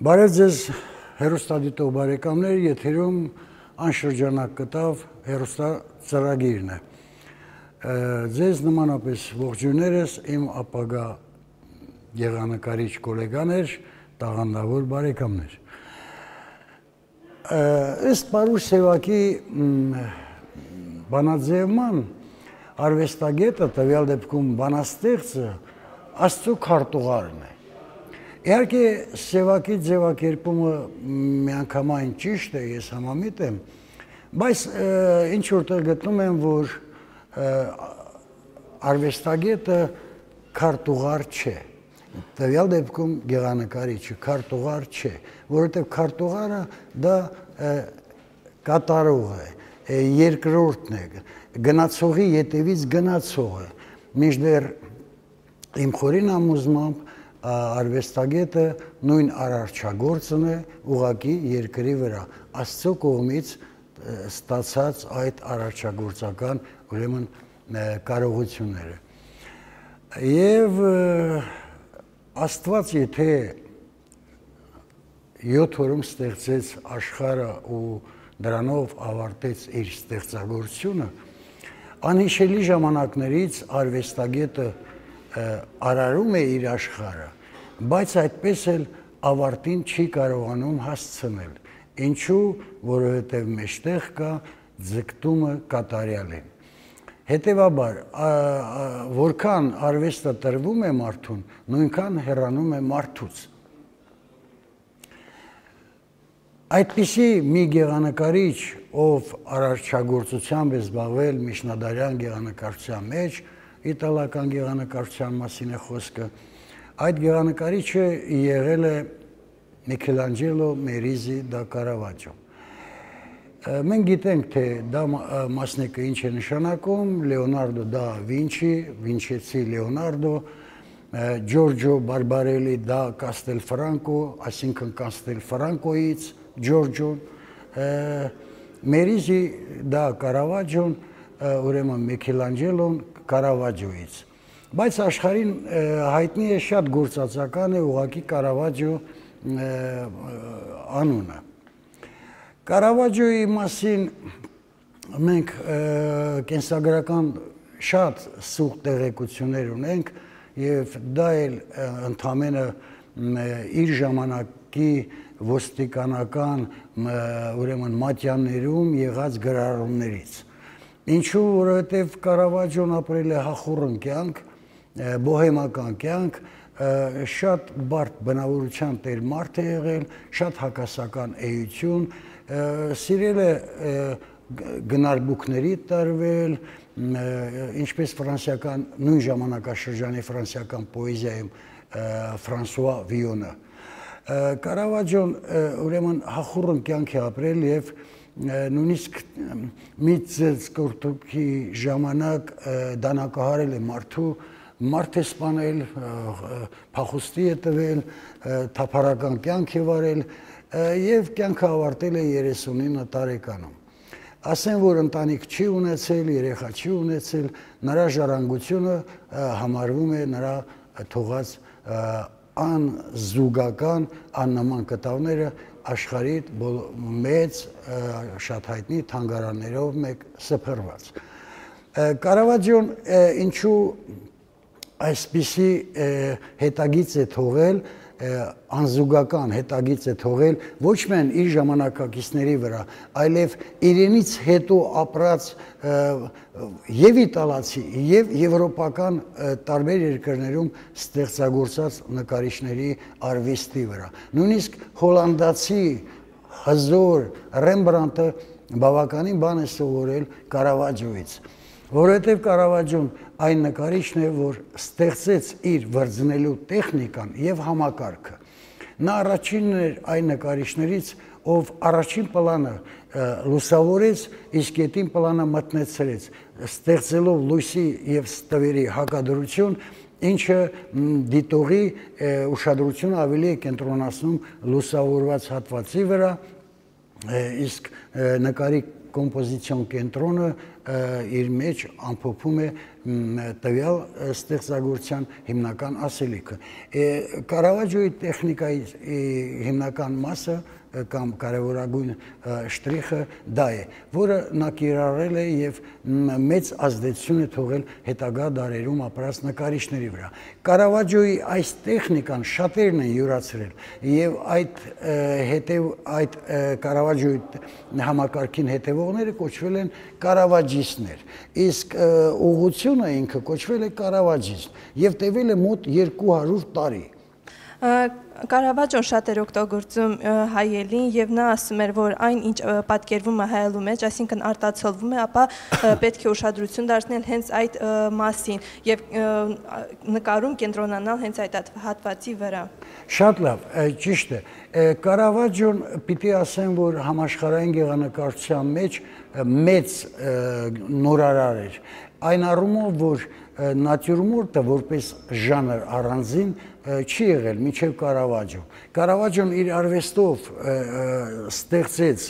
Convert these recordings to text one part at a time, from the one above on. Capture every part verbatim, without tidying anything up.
Բարև ձեզ հեռուստադիտող բարեկամներ, եթերում անշրջանակ կտավ հեռուստածրագիրն է։ Ձեզ նմանապես ողջույններս իմ ապագա գեղանկարիչ գոլեգաներ, տաղանդավոր բարեկամներ։ Ըստ Պարուշ Սևակի բանաձևման արվեստագետը, տվյալ դեպքում բանաստեղծը, Աստծո քարտուղարն է։ Իհարկե Սևակի ձևակերպումը միանգամայն ճիշտ է, ես համամիտ եմ, բայց ինչ որտեղ գտնում եմ, որ արվեստագետը քարտուղար չէ, տվյալ դեպքում գեղանկարիչը քարտուղար չէ, որովհետև քարտուղարը դա կատարող է, երկրորդն է, գնացողի ետևից գնացող է, մինչդեռ իմ խորին համոզմամբ արվեստագետը նույն արարչագործն է ուղղակի երկրի վրա, Աստծո կողմից ստացած այդ արարչագործական ուրեմն կարողությունները։ Եվ Աստված եթե յոթ օրում ստեղծեց աշխարհը ու դրանով ավարտեց իր ստեղծագործությունը, անհիշելի ժամանակներից արվեստագետը արարում է իր աշխարհը, բայց այդպես էլ ավարտին չի կարողանում հասցնել, ինչու, որովհետև մեջտեղ կա ձգտումը կատարյալին։ Հետևաբար, որքան արվեստը տրվում է մարդուն, նույնքան հեռանում է մարդուց։ Այդպիսի մի գեղանկարիչ, ով արարչագործությամբ է զբաղվել միջնադարյան գեղանկարչության մեջ, իտալական գեղանկարչության մասին է խոսքը, այդ գեղանկարիչը եղել է Միքելանջելո Մերիզի դա Կարավաջո։ Մենք գիտենք, թե դա մասնիկը ինչ է նշանակում, Լեոնարդո դա Վինչի, Վինչեցի Լեոնարդո, Ջորջո Բարբարելի դա Կաստելֆրանկո, այսինքն Կաստելֆրանկոից Ջորջոն, Մերիզի դա Կարավաջոն, ուրեմն Միքելանջելոն Կարավաջոից։ Բայց աշխարհին հայտնի է շատ գործածական է ուղղակի Կարավաջո անունը։ Կարավաջոյի մասին մենք կենսագրական շատ սուղ տեղեկություններ ունենք եւ դա էլ ընդամենը իր ժամանակի ոստիկանական ուրեմն մատյաններում եղած գրառումներից։ Ինչու, որովհետև Կարավաջոն ապրել է հախուռն կյանք, բոհեմական կյանք, շատ բարդ բնավորության տեր մարդ է եղել, շատ հակասական էություն, սիրել է գնարբուքների տարվել, ինչպես ֆրանսիական, նույն ժամանակաշրջանի ֆրանսիական պոեզիայում Ֆրանսուଆ Վիոնը։ Կարավաջոն ուրեմն հախուռն կյանք է ապրել եւ նույնիսկ մի ծծկորտուքի ժամանակ դանակահարել է մարդու, մարդ է սպանել, փախուստի է տվել, թափառական կյանք է վարել եւ կյանքը ավարտել է երեսունինը տարեկանում։ Ասեն, որ ընտանիք չի ունեցել, երեխա չի ունեցել, նրա ժառանգությունը համարվում է նրա թողած անզուգական, աննման կտավները աշխարհի մեծ, շատ հայտնի թանգարաններով մեկ սփռված։ Կարավաջոն ինչու այսպիսի հետագիծ է թողել, անզուգական հետագիծ է թողել ոչ միայն իր ժամանակակիցների վրա, այլև իրենից հետո ապրած եւ իտալացի եւ եվրոպական տարբեր երկրներում ստեղծագործած նկարիչների արվեստի վրա։ Նույնիսկ հոլանդացի հզոր Ռեմբրանտը բավականին բան է սովորել Կարավաջոից, որովհետև Կարավաջոն այն նկարիչն է, որ ստեղծեց իր վրձնելու տեխնիկան եւ համակարգը։ Նա առաջինն էր այն նկարիչներից, ով առաջին պլանը լուսավորեց, իսկ ետին պլանը մտնեցրեց, ստեղծելով լույսի եւ ստվերի հակադրություն, ինչը դիտողի ուշադրությունը ավելի է կենտրոնացնում լուսավորված հատվածի վրա, իսկ նկարի կոմպոզիցիոն կենտրոնը իր մեջ ամփոփում է տվյալ ստեղծագործության հիմնական ասելիքը։ Կարավաջոյի տեխնիկայի հիմնական մասը կամ կարևորագույն շտրիխը դա է, որը նա կիրառել է եւ մեծ ազդեցություն է թողել հետագա դարերում ապրած նկարիչների վրա։ Կարավաջոյի այս տեխնիկան շատերն են յուրացրել եւ այդ հետեւ այդ Կարավաջոյի համակարգին հետևողները կոչվել են կարավաջիստներ, իսկ ուղղությունը ինքը կոչվել է կարավաջիզմ եւ տևել է մոտ երկու հարյուր տարի։ Կարավաջոն շատ էր օգտագործում հայելին եւ նա ասում էր, որ այն ինչ պատկերվում է հայելու մեջ, այսինքն արտացոլվում է, ապա պետք է ուշադրություն դարձնել հենց այդ մասին եւ նկարում կենտրոնանալ հենց այդ հատվածի վրա։ Շատ լավ, ճիշտ է։ Կարավաջոն պիտի ասեմ, որ համաշխարհային գեղանկարչության մեջ մեծ նորարար էր։ Այն առումով, որ նատյուրմորտը որպես ժանր առանձին չի եղել մինչև Կարավաջո։ Կարավաջոն իր արվեստով ստեղծեց,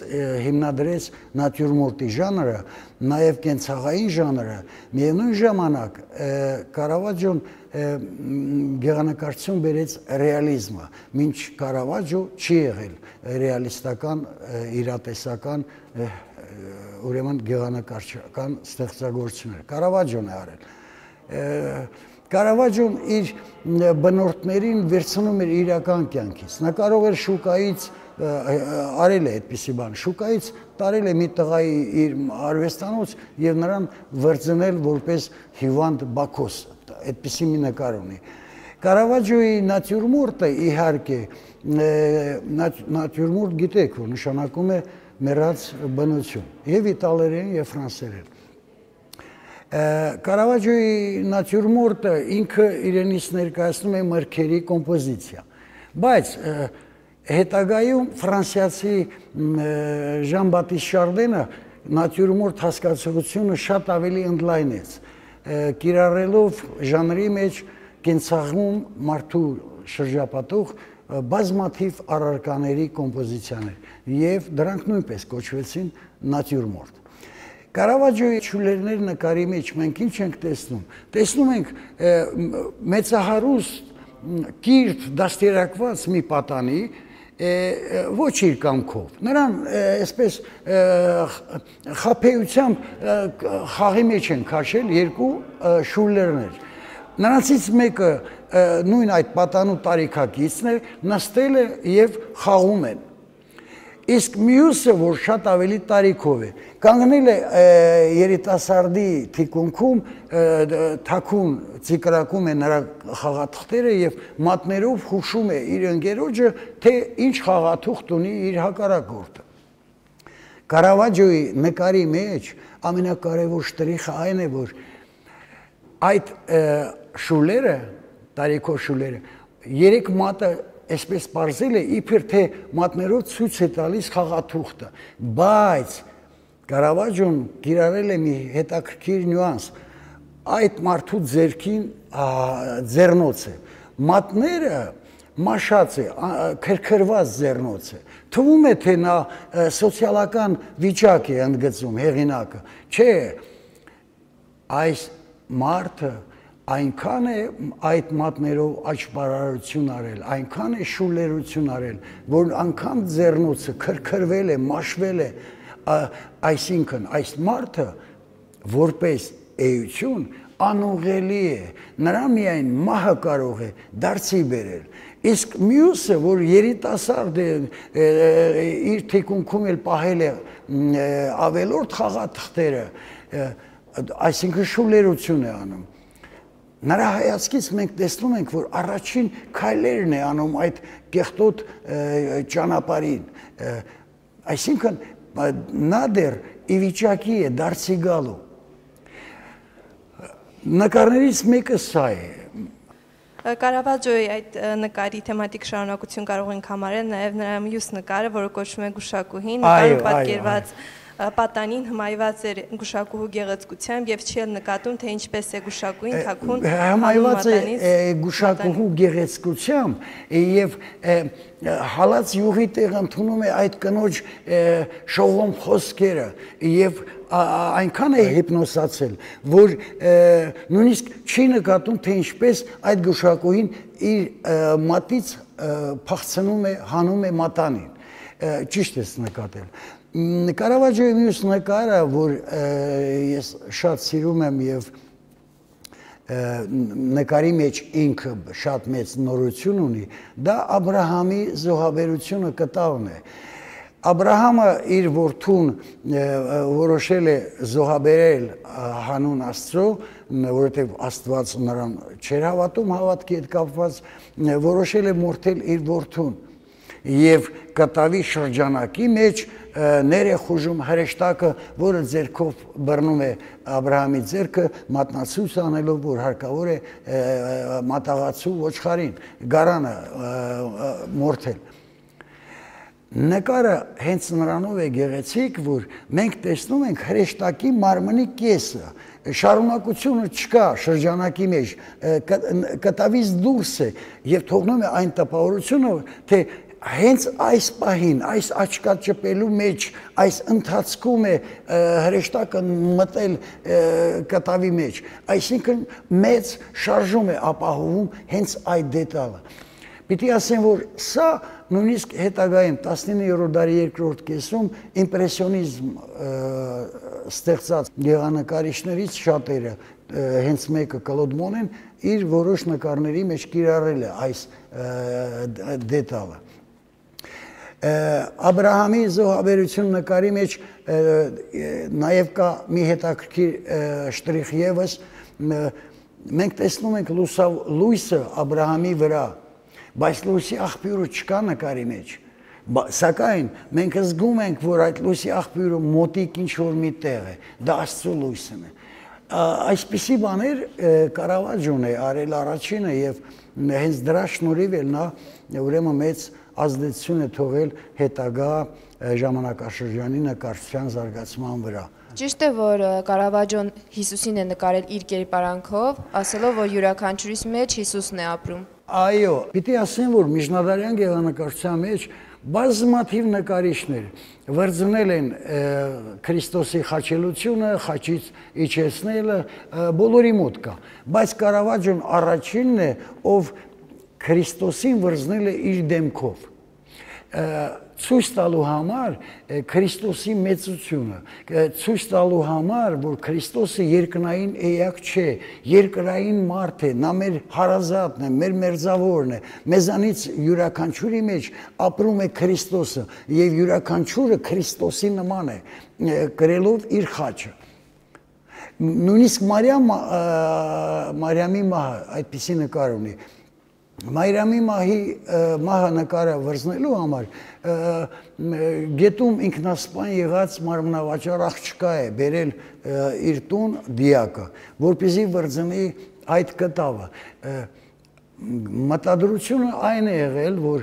հիմնադրեց նատյուրմորտի ժանրը, նաև կենցաղային ժանրը, միևնույն ժամանակ Կարավաջոն գեղանկարչություն բերեց ռեալիզմը, մինչ Կարավաջո չի եղել ռեալիստական, իրատեսական, ուրեմն գեղանկարչական ստեղծագործություններ։ Կարավաջոն է արել։ Կարավաջոն իր բնորդներին վերցնում էր իրական կյանքից։ Նա կարող էր շուկայից արել է այդպիսի բան, շուկայից տարել է մի տղայի իր արվեստանոց եւ նրան վրձնել որպես հիվանդ բակոս, այդպիսի մի նկար ունի։ Կարավաջոյի նատյուրմորտը իհարկե նատյուրմորտ գիտեք, որ նշանակում է մեռած բնություն, եւ իտալերեն եւ ֆրանսերեն։ Կարավաջոյի նատյուրմորտը ինքը իրենից ներկայացնում է մրգերի կոմպոզիցիա, բայց հետագայում ֆրանսիացի Ժան Բատիստ Շարդենը նատյուրմորտ հասկացությունը շատ ավելի ընդլայնեց, կիրառելով ժանրի մեջ կենցաղում մարդու շրջապատող բազմաթիվ առարկաների կոմպոզիցիաներ եւ դրանք նույնպես կոչվեցին նատյուրմորտ։ Կարավաջոյի շուլերներ նկարի մեջ մենք ինչ ենք տեսնում։ Տեսնում ենք մեծահարուստ կիրթ դաստիարակված մի պատանի, ոչ իր կամքով։ Նրան այսպես խաբեությամբ խաղի մեջ են քաշել երկու շուլերներ։ Նրանցից մեկը նույն այդ պատանու տարիքակիցն է, նստել է եւ խաղում են։ Իսկ մյուսը, որ շատ ավելի տարիքով է, կանգնել է երիտասարդի թիկունքում, թաքուն ծիկրակում է նրա խաղաթղթերը եւ մատներով հուշում է իր ընկերոջը, թե ինչ խաղաթուղթ ունի իր հակառակորդը։ Կարավաջոյի նկարի մեջ ամենակարևոր շտրիխը այն է, որ այդ շուլերը, տարիքով շուլերը, երեք մատը այսպես պարզել է, իբր թե մատներով ցույց է տալիս խաղաթուղթը, բայց Կարավաջոն կիրառել է մի հետաքրքիր նյուանս, այդ մարդու ձեռքին ձեռնոց է, մատները մաշած է, քրքրված ձեռնոց է, թվում է, թե նա սոցիալական վիճակ է ընդգծում հեղինակը, չէ, այս մարդը այնքան է այդ մատներով աճպարարություն արել, այնքան է շուլերություն արել, որ անգամ ձեռնոցը քրքրվել է, մաշվել է, այսինքն այս մարդը որպես էություն անուղելի է, նրա միայն մահը կարող է դարձի բերել։ Իսկ մյուսը, որ երիտասարդ է, իր թիկունքում էլ պահել է ավելորդ խաղաթղթերը, այսինքն շուլերություն է անում։ Նրա հայացքից մենք տեսնում ենք, որ առաջին քայլերն է անում այդ կեղտոտ ճանապարհին, այսինքն նա դեռ ի վիճակի է դարձի գալու։ Նկարներից մեկը սա է։ Կարավաջոյի այդ նկարի թեմատիկ շարունակություն կարող ենք համարել նաև նրա մյուս նկարը, որը կոչվում է Գուշակուհին, նկարում պատկերված պատանին հմայված էր գուշակուհու գեղեցկությամբ եւ չի նկատում թե ինչպես է գուշակուին թաքուն հմայված է գուշակուհու գեղեցկությամբ եւ հալած յուղի տեղ ընդունում է այդ կնոջ շողոմ խոսքերը եւ այնքան է հիպնոսացել, որ նույնիսկ չի նկատում թե ինչպես այդ գուշակուհին իր մատից փախցնում է, հանում է մատանին, ճիշտ ես նկատել։ Կարավաջոյի մյուս նկարը, որ ես շատ սիրում եմ եւ նկարի մեջ ինքը շատ մեծ նորություն ունի, դա Աբրահամի զոհաբերությունը կտավն է։ Աբրահամը իր որդուն որոշել է զոհաբերել հանուն Աստծո, որովհետև Աստված նրան չէր հավատում, հավատքի հետ կապված, որոշել է մորթել իր որդուն եւ կտավի շրջանակի մեջ ներ է խուժում հրեշտակը, որը ձեռքով բռնում է Աբրահամի ձեռքը, մատնացույց անելով, որ հարկավոր է մատաղացու ոչխարին, գարանը մորթել։ Նկարը հենց նրանով է գեղեցիկ, որ մենք տեսնում ենք հրեշտակի մարմնի կեսը, շարունակությունը չկա շրջանակի մեջ, կտավից դուրս է եւ թողնում է այն տպավորությունը, թե հենց այս պահին, այս աչքաճպելու մեջ, այս ընթացքում է հրեշտակը մտել կտավի մեջ, այսինքն մեծ շարժում է ապահովում հենց այդ դետալը։ Պիտի ասեմ, որ սա նույնիսկ հետագայում տասնիններորդ դարի երկրորդ կեսում իմպրեսիոնիզմ ստեղծած գեղանկարիչներից շատերը, հենց մեկը Կլոդ Մոնեն, իր որոշ նկարների մեջ կիրառել է այս դետալը։ Աբրահամի զոհաբերություն նկարի մեջ նաև կա մի հետաքրքիր շտրիխ ևս, մենք տեսնում ենք լույսը Աբրահամի վրա, բայց լույսի աղբյուրը չկա նկարի մեջ, սակայն մենք զգում ենք, որ այդ լույսի աղբյուրը մոտիկ ինչ-որ մի տեղ է, դա Աստծո լույսն է։ Այսպիսի բաներ Կարավաջոն է արել առաջինը եւ հենց դրա շնորհիվ էլ նա ուրեմն մեծ ազդեցություն է թողել հետագա ժամանակաշրջանի նկարչության զարգացման վրա։ Ճիշտ է, որ Կարավաջոն Հիսուսին է նկարել իր կերպարանքով, ասելով, որ յուրաքանչյուրիս մեջ Հիսուսն է ապրում։ Այո, պիտի ասեմ, որ միջնադարյան գեղանկարչության մեջ բազմաթիվ նկարիչներ վրձնել են Քրիստոսի խաչելությունը, խաչից իջեցնելը, բոլորի մոտ կա, բայց Կարավաջոն առաջինն է, ով Քրիստոսին վրձնել է իր դեմքով, ցույց տալու համար Քրիստոսի մեծությունը, ցույց տալու համար, որ Քրիստոսը երկնային էակ չէ, երկրային մարդ է, նա մեր հարազատն է, մեր մերձավորն է, մեզանից յուրաքանչյուրի մեջ ապրում է Քրիստոսը եւ յուրաքանչյուրը Քրիստոսի նման է, կրելով իր խաչը։ Նույնիսկ Մարիամ, Մարիամի մահը այդպիսի նկար ունի։ Մարիամի մահի մահը նկարը վրձնելու համար գետում ինքնասպան եղած մարմնավաճառ աղջկա է բերել իր տուն դիակը, որպեսզի վրձնի այդ կտավը։ Մտադրությունը այն է եղել, որ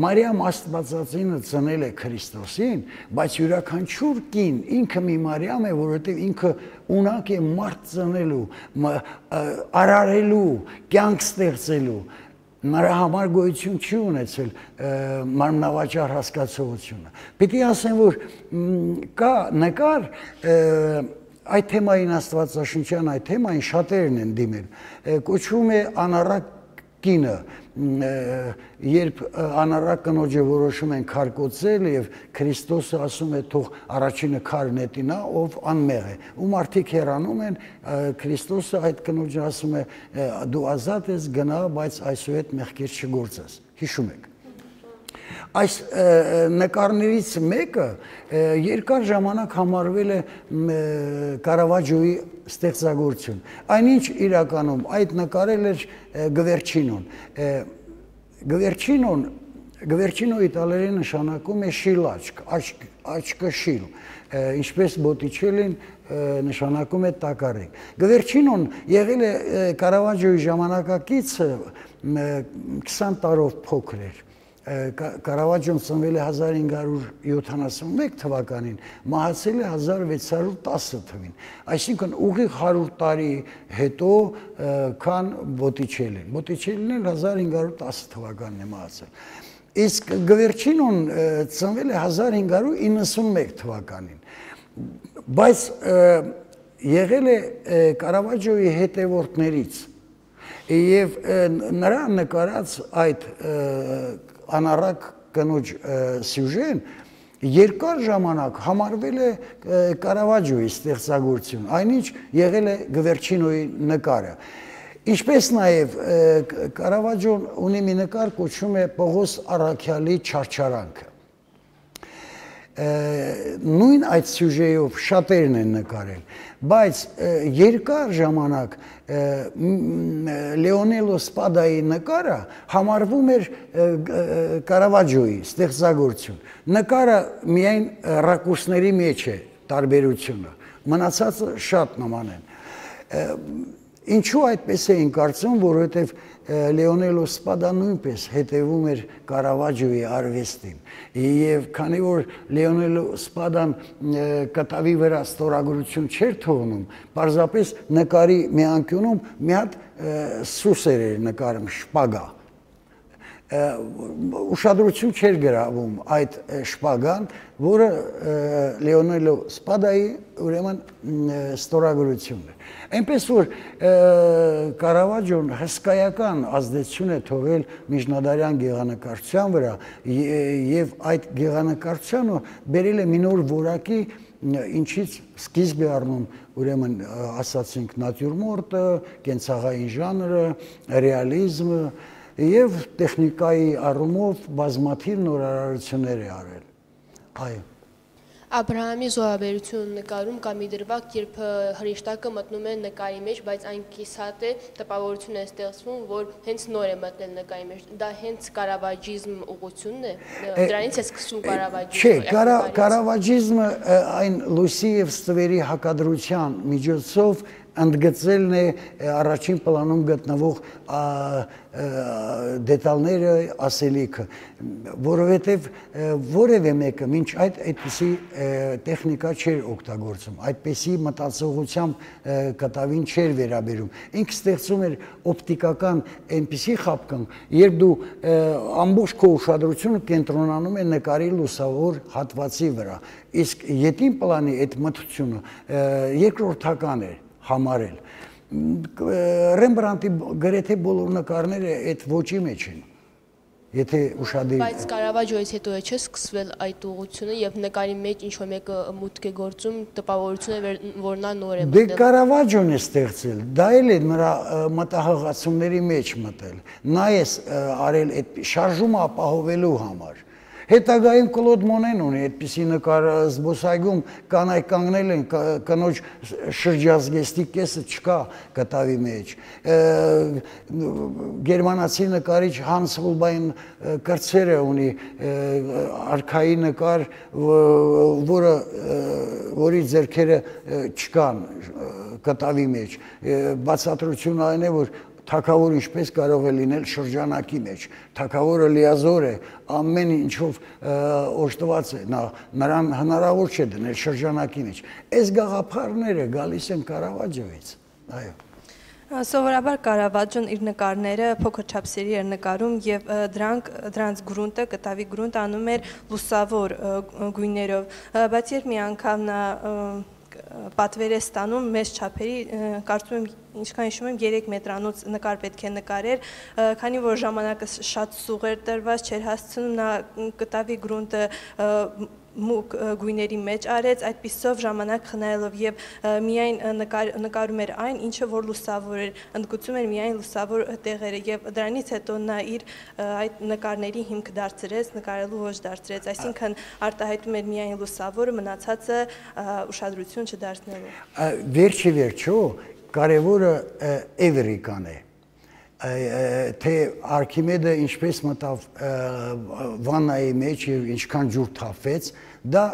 Մարիամ Աստվածածինը ծնել է Քրիստոսին, բայց յուրաքանչյուր կին ինքը մի Մարիամ է, որովհետև ինքը ունակ է մարդ ծնելու, արարելու, կյանք ստեղծելու, նրա համար գոյություն չի ունեցել մարմնավաճառ հասկացողությունը։ Պիտի ասեմ, որ կա նկար, այդ թեմային Աստվածաշնչյան այդ թեմային շատերն են դիմել, կոչվում է անառակ կինը, երբ անառակ կնոջը որոշում են քարկոծել եւ Քրիստոսը ասում է թող առաջինը քար նետինա, ով անմեղ է, ու մարդիկ հեռանում են, Քրիստոսը այդ կնոջը ասում է դու ազատ ես, գնա, բայց այսուհետ մեղքեր չգործես, հիշում եք։ Այս նկարներից մեկը երկար ժամանակ համարվել է Կարավաջոյի ստեղծագործություն։ Այնինչ իրականում այդ նկարել էր Գվերչինոն։ Գվերչինոն, Գվերչինոյի տալերի նշանակում է շիլ աչք, աչքը շիլ, ինչպես Բոտիչելին նշանակում է տակառիկ։ Գվերչինոն եղել է Կարավաջոյի ժամանակակիցը քսան տարով փոքր էր։ Կարավաջոն ծնվել է հազար հինգ հարյուր յոթանասունմեկ թվականին, մահացել է հազար վեց հարյուր տասը թվին, այսինքն ուղիղ հարյուր տարի հետո քան Բոտիչելին, Բոտիչելին էլ հազար հինգ հարյուր տասը թվականին է մահացել, իսկ Գվերչինոն ծնվել է հազար հինգ հարյուր իննսունմեկ թվականին, բայց եղել է Կարավաջոյի հետևորդներից եւ նրա նկարած այդ անառակ կնոջ սյուժեն երկար ժամանակ համարվել է Կարավաջոյի ստեղծագործություն, այնինչ եղել է Գվերչինոյի նկարը։ Ինչպես նաև Կարավաջոն ունի մի նկար կոչվում է Պողոս Առաքյալի չարչարանքը։ Նույն այդ սյուժեով շատերն են նկարել, բայց երկար ժամանակ Լեոնելո Սպադայի նկարը համարվում էր Կարավաջոյի ստեղծագործություն։ Նկարը միայն ռակուրսների մեջ է տարբերությունը, մնացածը շատ նման են։ Ինչու այդպես էին կարծում, որովհետև Լեոնելո Սպադան նույնպես հետևում էր Կարավաջոյի արվեստին եւ քանի որ Լեոնելո Սպադան կտավի վրա ստորագրություն չէր թողնում, պարզապես նկարի մի անկյունում մի հատ սուսեր էր նկարում, շպագա, ուշադրություն չէր գրավում այդ շպագան, որը Լեոնելո Սպադայի ուրեմն ստորագրությունն էր։ Այնպես որ Կարավաջոն հսկայական ազդեցություն է թողել միջնադարյան գեղանկարչության վրա եւ այդ գեղանկարչությունը բերել է մի նոր որակի, ինչից սկիզբ է առնում ուրեմն ասացինք նատյուրմորտը, կենցաղային ժանրը, ռեալիզմը եւ տեխնիկայի առումով բազմաթիվ նորարարություններ է արել։ Այո։ Աբրահամի զոհաբերություն նկարում կա մի դրվագ, երբ հրեշտակը մտնում է նկարի մեջ, բայց այն կիսատ է, տպավորություն է ստեղծվում, որ հենց նոր է մտնել նկարի մեջ։ Դա հենց կարավաջիզմ ուղղությունն է, դրանից է սկսվում կարավաջիզմը։ Չէ, կարավաջիզմը այն լույսի եւ ստվերի հակադրության միջոցով ընդգծելն է առաջին պլանում գտնվող դետալները, ասելիքը, որովհետև որևէ մեկը մինչ այդ այդպիսի տեխնիկա չէր օգտագործում, այդպիսի մտածողությամբ կտավին չէր վերաբերում, ինքը ստեղծում էր օպտիկական այնպիսի խապկան, երբ դու ամբողջ քո ուշադրությունը կենտրոնանում է նկարի լուսավոր հատվածի վրա, իսկ ետին պլանի այդ մթությունը երկրորդական էր համարել։ Ռեմբրանտի գրեթե բոլոր նկարները այդ ոճի մեջ են, եթե ուշադիր։ Բայց Կարավաջոյից հետո է չէ սկսվել այդ ուղղությունը եւ նկարի մեջ ինչ-որ մեկը մուտք է գործում, տպավորություն է, որ նա նոր է մտել։ Դե Կարավաջոն է ստեղծել, դա էլ է նրա մտահղացումների մեջ մտել։ Նա է արել այդ շարժումը ապահովելու համար։ Հետագայում Կլոդ Մոնեն ունի այդպիսի նկար զբոսայգում կանայք կանգնել են, կնոջ շրջազգեստի կեսը չկա կտավի մեջ։ Գերմանացի նկարիչ Հանս Հոլբայն կրծերը ունի արքայի նկար, որը որի ձեռքերը չկան կտավի մեջ։ Բացատրությունը այն է, որ թագավոր ինչպես կարող է լինել շրջանակի մեջ, թագավորը լիազոր է, ամեն ինչով օժտված է, նրան հնարավոր չէ դնել շրջանակի մեջ, այս գաղափարները գալիս են Կարավաջոյից, այո։ Սովորաբար Կարավաջոն իր նկարները փոքր չափսերի էր նկարում եւ դրանք դրանց գրունտը, կտավի գրունտ անում էր լուսավոր գույներով, բայց երբ մի անգամ նա պատվեր է ստանում մեծ չափերի, կարծում եմ ինչքան հիշում եմ երեք մետրանոց նկար պետք է նկարեր, քանի որ ժամանակը շատ սուղ էր տրված, չէր հասցնում, նա կտավի գրունտը մուկ գույների մեջ արեց, այդպիսով ժամանակ խնայելով եւ միայն նկարում էր այն, ինչը որ լուսավոր էր, ընդգծում էր միայն լուսավոր տեղերը եւ դրանից հետո նա իր այդ նկարների հիմք դարձրեց, նկարելու ոճ դարձրեց, այսինքն արտահայտում էր միայն լուսավորը, մնացածը ուշադրություն չդարձնելու։ Վերջի վերջո կարևորը էվերիկան է, թե Արքիմեդը ինչպես մտավ վաննայի մեջ և ինչքան ջուր թափվեց, դա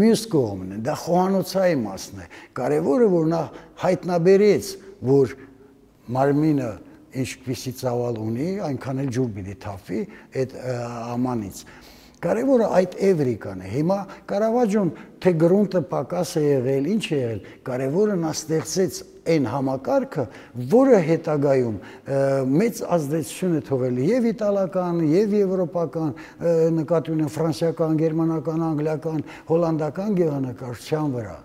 մյուս կողմն է, դա խոհանոցայի մասն է, կարևորը որ նա հայտնաբերեց, որ մարմինը ինչպիսի ծավալ ունի, այնքան էլ ջուր պիտի թափվի այդ ամանից։ Կարևորը այդ էվրիկան է։ Հիմա Կարավաջոն թե գրունտը պակաս է եղել, ինչ է եղել, կարևորը նա ստեղծեց այն համակարգը, որը հետագայում մեծ ազդեցություն է թողել եւ իտալական, եւ եվրոպական, նկատի ունեմ ֆրանսիական, գերմանական, անգլիական, հոլանդական գեղանկարչության վրա։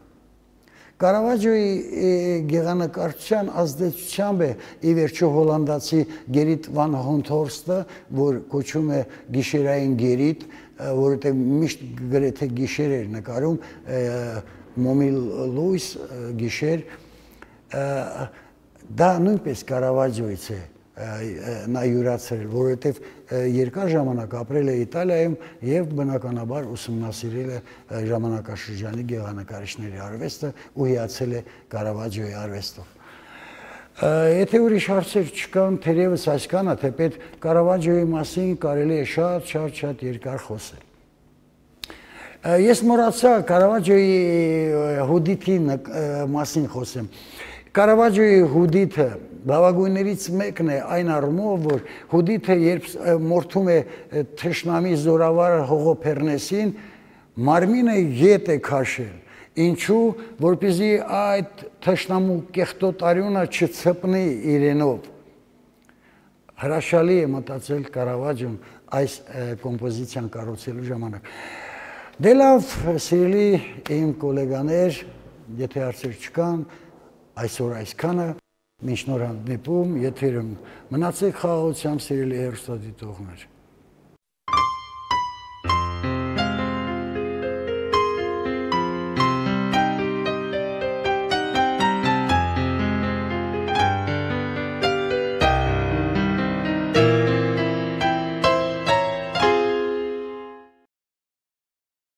Կարավաջոյի գեղանկարչության ազդեցությամբ է ի վերջո հոլանդացի Գերիտ վան Հոնթորստը, որ կոչվում է գիշերային գերիտ, որովհետև միշտ գրեթե գիշեր էր նկարում, մոմիլ լույս գիշեր, դա նույնպես Կարավաջոյից է նա յուրացրել, որովհետև երկար ժամանակ ապրել է Իտալիայում եւ բնականաբար ուսումնասիրել է ժամանակաշրջանի գեղանկարիչների արվեստը ու հիացել է Կարավաջոյի արվեստով։ Եթե ուրիշ հարցեր չկան, թերևս այսքանը, թեպետ Կարավաջոյի մասին կարելի է շատ, շատ, շատ երկար խոսել։ Ես մոռացա Կարավաջոյի հուդիթի մասին խոսեմ։ Կարավաջոյի հուդիթը բավագույններից մեկն է այն առումով, որ հուդիթը երբ մորթում է թշնամի զորավար Հողոփեռնեսին, մարմինը ետ է քաշել, ինչու, որպեսզի այդ թշնամու կեղտոտարյունը չցպնի իրենով։ Հրաշալի է մտածել Կարավաջոն այս կոմպոզիցիան կառուցելու ժամանակ։ Դե լավ, սիրելի իմ գոլեգաներ, եթե հարցեր չկան, այսօր այսքանը, մինչ նոր հանդիպում, եթերում մնացեք խաղաղությամբ, սիրելի հեռուստադիտողներ։